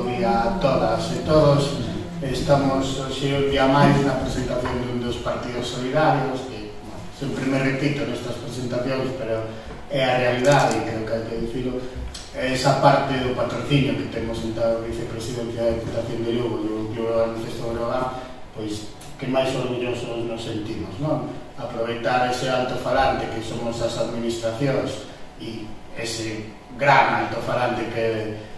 bo día a todas e todos. Estamos hoxe un día máis na presentación dun dos partidos solidarios que sempre me repito nestas presentacións, pero é a realidade e creo que hai que dicilo. Esa parte do patrocinio que temos en a vicepresidencia da Diputación de Lugo e o Club de Baloncesto Breogán, pois que máis orgullosos nos sentimos, non? Aproveitar ese alto-falante que somos as administracións e ese gran alto-falante que é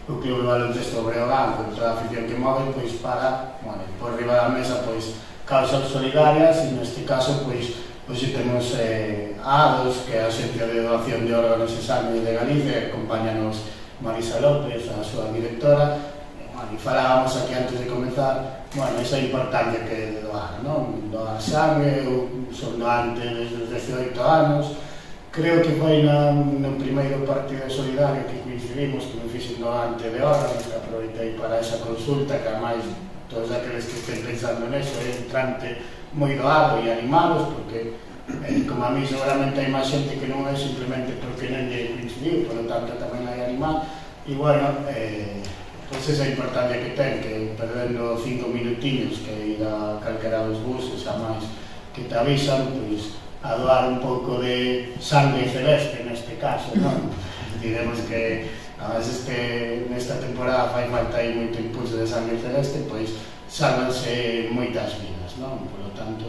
o Club de Baloncesto Breogán con toda a afición que move, pois para, bueno, por riba da mesa, pois causas solidarias e neste caso, pois hoxe temos a ADOS, que é a Axencia de Doación de Órganos e Sangue de Galicia, acompáñanos Marisa López, a súa directora, e falábamos aquí antes de comenzar, bueno, esa importancia que é de doar, non? Doar sangue, eu son doante desde os 18 anos, creo que foi no primeiro partido solidario que coincidimos, que me fixen doante de órganos, que aproveitei para esa consulta, que ademais todos aqueles que estén pensando neso é entrante moi doado e animados, porque como a mí seguramente hai máis xente que non é simplemente porque non lle coincidiu, por lo tanto tamén hai animal, e bueno, pois esa importancia que ten, que perdendo 5 minutiños que ir a calquera dos buses, a máis que te avisan, pois a doar un pouco de sangre celeste neste caso, non? Diremos que nesta temporada fai falta aí moito impulso de sangre celeste, pois salvanse moitas vidas, non? Por lo tanto,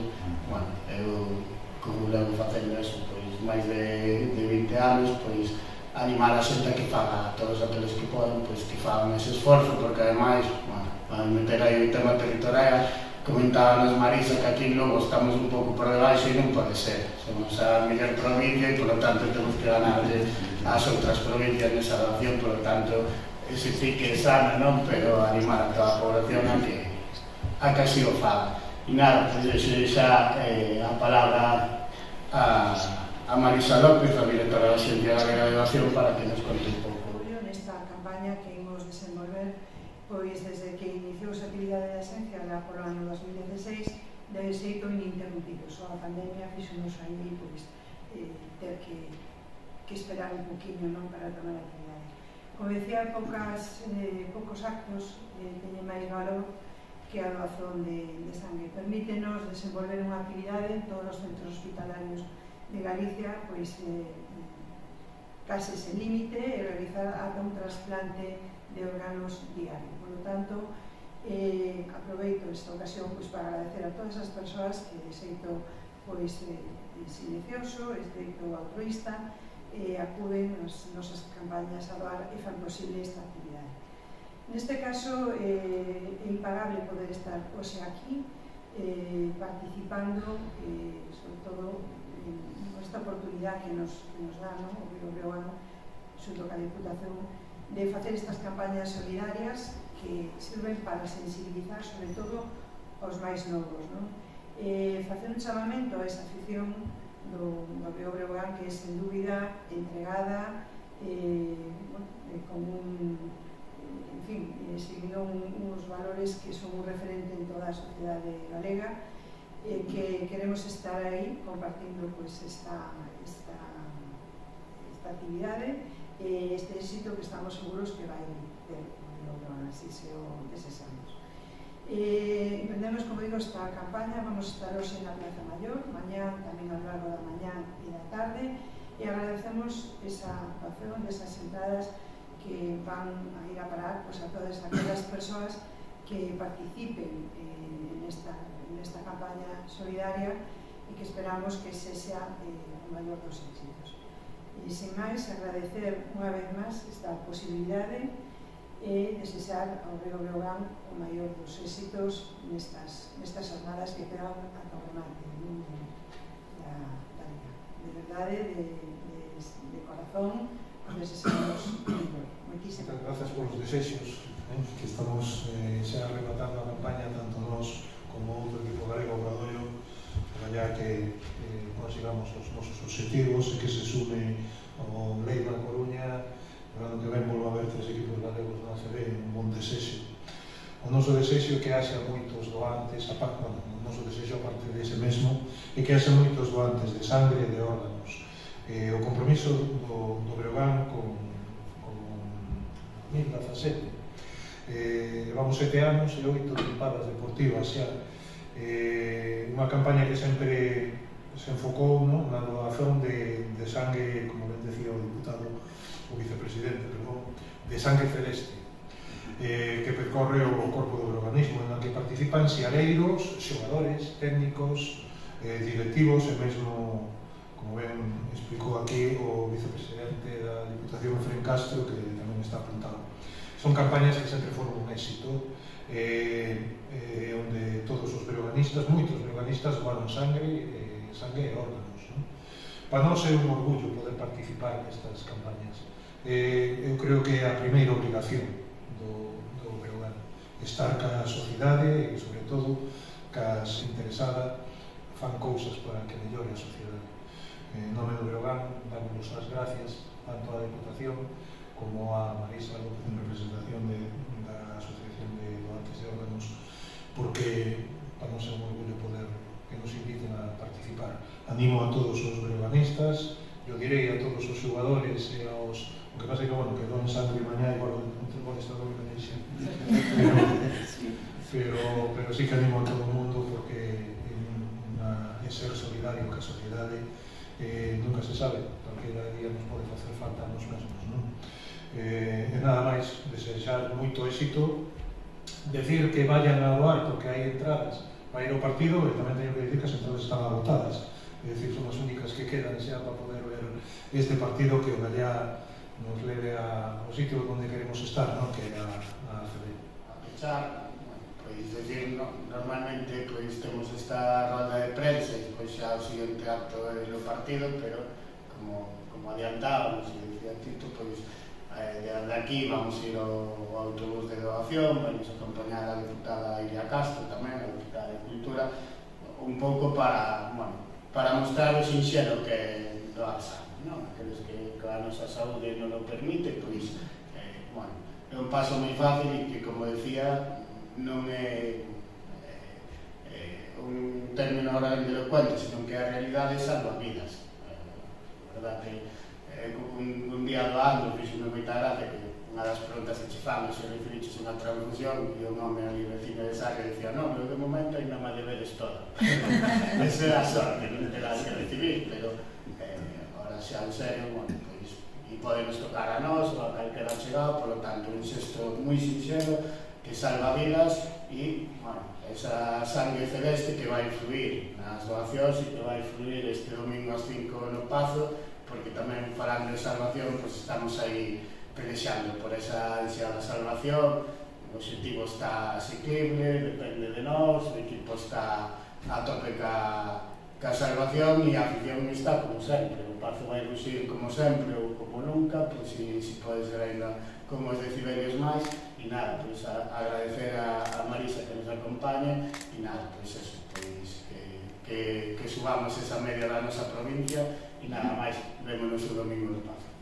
bueno, eu como levo facendo eso, pois máis de 20 anos, pois animar a xente que faga, todos aqueles que poden, pois que fagan ese esforzo, porque ademais, bueno, para meter aí o tema territorial, comentábamos Marisa que aquí en Lugo estamos un pouco por debaixo e non pode ser, somos a mellor provincia e, por lo tanto, temos que ganarle ás outras provincias nesa doación, por lo tanto, ese sí que é sana, non? Pero animar a toda a población a que así o faga. E nada, pois xa a palabra a Marisa López, a directora da Axencia Galega de Doación, para que nos conte un pouco. Nesta campaña que imos desenvolver, pois desde que iniciou a actividade da Axencia por o ano 2016, de xeito ininterrumpido. Só a pandemia fixonos aí pois ter que esperar un poquinho, non, para tomar a actividade. Como decía, poucos actos teñen máis valor que a doazón de sangue. Permítenos desenvolver unha actividade en todos os centros hospitalarios de Galicia, pois case sen límite, e realizar ata un trasplante de órganos diario. Por lo tanto, aproveito esta ocasión para agradecer a todas as persoas que de xeito silencioso, de xeito altruista, acuden nas nosas campañas a doar e fan posible esta actividade. Neste caso, é impagable poder estar hoxe aquí participando, sobre todo esta oportunidade que nos dá o Río Breogán, xunto ca Diputación, de facer estas campañas solidarias que sirven para sensibilizar sobre todo aos máis novos. Facer un chamamento a esa afición do Río Breogán, que é sen dúbida entregada, con seguindo uns valores que son un referente en toda a sociedade galega, que queremos estar aí compartindo esta actividade e este éxito que estamos seguros que vai ter, así se o desexamos. Emprendemos, como digo, esta campaña. Vamos a estar hoxe na Plaza Maior, mañá tamén ao largo da mañá e da tarde, e agradecemos esa doación desas entradas que van a ir a parar a todas aquelas persoas que participen nesta campaña solidaria e que esperamos que ese sea o maior dos éxitos. E, sen máis, agradecer unha vez máis esta posibilidade e desexar ao Río Breogán o maior dos éxitos nestas jornadas que quedan ata o remate da liga. De verdade, de corazón, os desexamos moitísimas. Grazas polos desexos, que estamos xa rematando a campaña, tanto nós como outro equipo galego, Obradoiro, para que consigamos os nosos objetivos e que se sume o Leiro na Coruña. O ano que ven volvo a ver 3 equipos galegos na ACB, un bon desexo. O noso desexo é que haxa moitos doantes, o noso desexo a partir dese mesmo, é que haxa moitos doantes de sangre e de órganos. O compromiso do Breogán con 2017 Levamos 7 anos e 8 tempadas deportivas xa. Unha campaña que sempre se enfocou na donación de sangue, como ben decía o diputado, o vicepresidente, perdón, de sangue celeste, que percorre o corpo do organismo, en que participan xiareiros, xogadores, técnicos, directivos e mesmo, como ben explicou aquí o vicepresidente da Diputación, Efrén Castro, que tamén está apuntado. Son campañas que sempre foron un éxito, onde todos os breoganistas, moitos breoganistas, doaron sangue e órganos. Para nós é un orgullo poder participar nestas campañas. Eu creo que é a primeira obrigación do Breogán, estar ca sociedade e, sobre todo, cas interesada fan cousas para que mellore a sociedade. En nome do Breogán, damos as gracias tanto á Deputación como a Marisa López en representación da Asociación de Donantes de Órganos, porque para nos é un orgullo poder que nos inviten a participar. Animo a todos os breoganistas, eu direi a todos os xogadores e aos... O que pasa é que, bueno, que don sangre mañá igual entre vos está do Indonesia. Pero sí que animo a todo o mundo porque é ser solidario ca sociedade nunca se sabe, calquera día nos pode facer falta a nos mesmos, non? E nada máis, desexar moito éxito, decir que vayan a doar porque hai entradas para ir ao partido, e tamén teño que decir que as entradas están agotadas, é dicir, son as únicas que quedan xa para poder ver este partido que o Gallá nos leve ao sitio onde queremos estar, non? Que é a FD. A pechar, pois decir, normalmente pois temos esta rolda de prensa e pois xa o seguinte acto é o partido, pero como adiantábamos e dicía Tito, pois de aquí vamos ir ao autobús de doación, vamos acompañar a deputada Iria Castro tamén, a deputada de Cultura, un pouco para mostrar o sinxelo que é doar sangue, non? Aqueles que a nosa saúde non o permite, pois, é un paso moi fácil e que, como decía, non é un término grandilocuente, senón que a realidade salva vidas. A verdade, un día doando, fixo-me moita gracia que unha das preguntas que che fan, se referiches unha transfusión, e un home ali vecino de Saga decía, non, pero de momento ainda má deberes toda. Esa é a sorte, non te la que recibir, pero ahora xa en serio, pois, e podenos tocar a nós ou a calquera chegado, por lo tanto, un xesto moi sinxelo que salva vidas e, esa sangue celeste que vai influir nas doacións e que vai influir este domingo ás 5 no Pazo, porque tamén falando de salvación, pois estamos aí pelexando por esa ansiada salvación, o objetivo está asequible, depende de nós, o equipo está a tope ca salvación e a afición está como sempre. O Pazo vai ruxir como sempre ou como nunca, pois se pode ser ainda como os decibelios máis, e nada, pois agradecer a Marisa que nos acompañe, e nada, pois eso, pois que subamos esa media da nosa provincia, e nada máis, vémonos o domingo do Pazo.